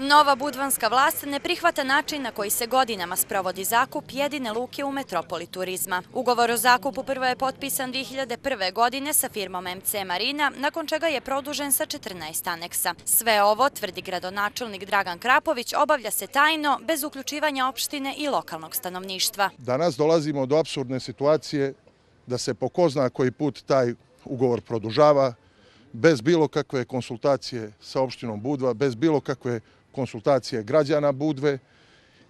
Nova budvanska vlast ne prihvata način na koji se godinama sprovodi zakup jedine luke u metropoli turizma. Ugovor o zakupu prvo je potpisan 2001. godine sa firmom MC Marina, nakon čega je produžen sa 14 aneksa. Sve ovo, tvrdi gradonačelnik Dragan Krapović, obavlja se tajno, bez uključivanja opštine i lokalnog stanovništva. Danas dolazimo do apsurdne situacije da se po ko zna koji put taj ugovor produžava, bez bilo kakve konsultacije sa opštinom Budva, bez bilo kakve konsultacije građana Budve,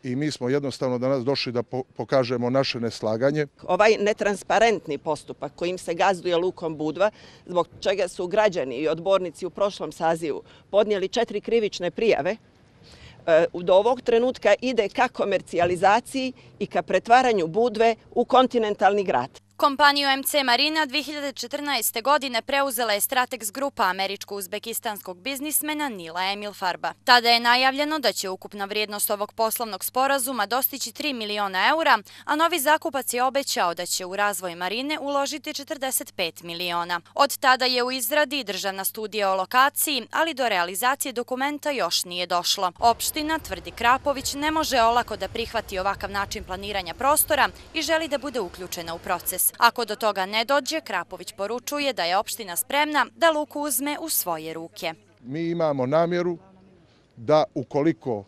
i mi smo jednostavno danas došli da pokažemo naše neslaganje. Ovaj netransparentni postupak kojim se gazduje lukom Budva, zbog čega su građani i odbornici u prošlom sazivu podnijeli 4 krivične prijave, do ovog trenutka ide ka komercijalizaciji i ka pretvaranju Budve u kontinentalni grad. Kompaniju MC Marina 2014. godine preuzela je Stratex grupa američko-uzbekistanskog biznismena Nila Emil Farba. Tada je najavljeno da će ukupna vrijednost ovog poslovnog sporazuma dostići 3 miliona eura, a novi zakupac je obećao da će u razvoj marine uložiti 45 miliona. Od tada je u izradi državna studija o lokaciji, ali do realizacije dokumenta još nije došlo. Opština, tvrdi Krapović, ne može olako da prihvati ovakav način planiranja prostora i želi da bude uključena u proces. Ako do toga ne dođe, Krapović poručuje da je opština spremna da luku uzme u svoje ruke. Mi imamo namjeru da ukoliko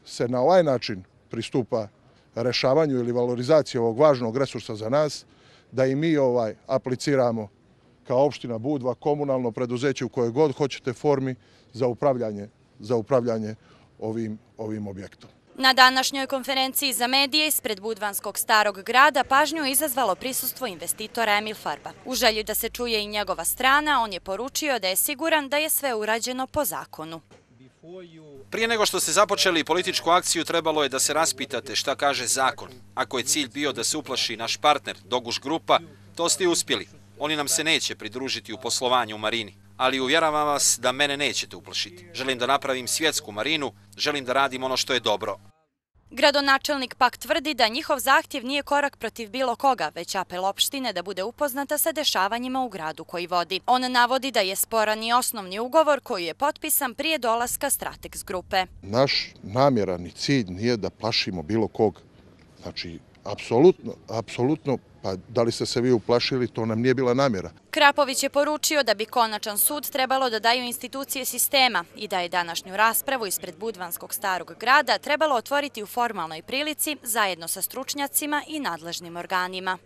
se na ovaj način pristupa rešavanju ili valorizaciji ovog važnog resursa za nas, da i mi apliciramo kao opština Budva komunalno preduzeće u kojoj god hoćete formi za upravljanje ovim objektom. Na današnjoj konferenciji za medije ispred Budvanskog starog grada pažnju je izazvalo prisustvo investitora Emil Farba. U želji da se čuje i njegova strana, on je poručio da je siguran da je sve urađeno po zakonu. Prije nego što ste započeli političku akciju, trebalo je da se raspitate šta kaže zakon. Ako je cilj bio da se uplaši naš partner, Doguš grupa, to ste uspjeli. Oni nam se neće pridružiti u poslovanju u marini. Ali uvjeravam vas da mene nećete uplašiti. Želim da napravim svjetsku marinu, želim da radim ono što je dobro. Gradonačelnik pak tvrdi da njihov zahtjev nije korak protiv bilo koga, već apel opštine da bude upoznata sa dešavanjima u gradu koji vodi. On navodi da je sporan i osnovni ugovor koji je potpisan prije dolaska Stratex grupe. Naš namjeran cilj nije da plašimo bilo kog. Znači, apsolutno, pa da li ste se vi uplašili, to nam nije bila namjera. Krapović je poručio da bi konačan sud trebalo da daju institucije sistema i da je današnju raspravu ispred Budvanskog starog grada trebalo otvoriti u formalnoj prilici zajedno sa stručnjacima i nadležnim organima.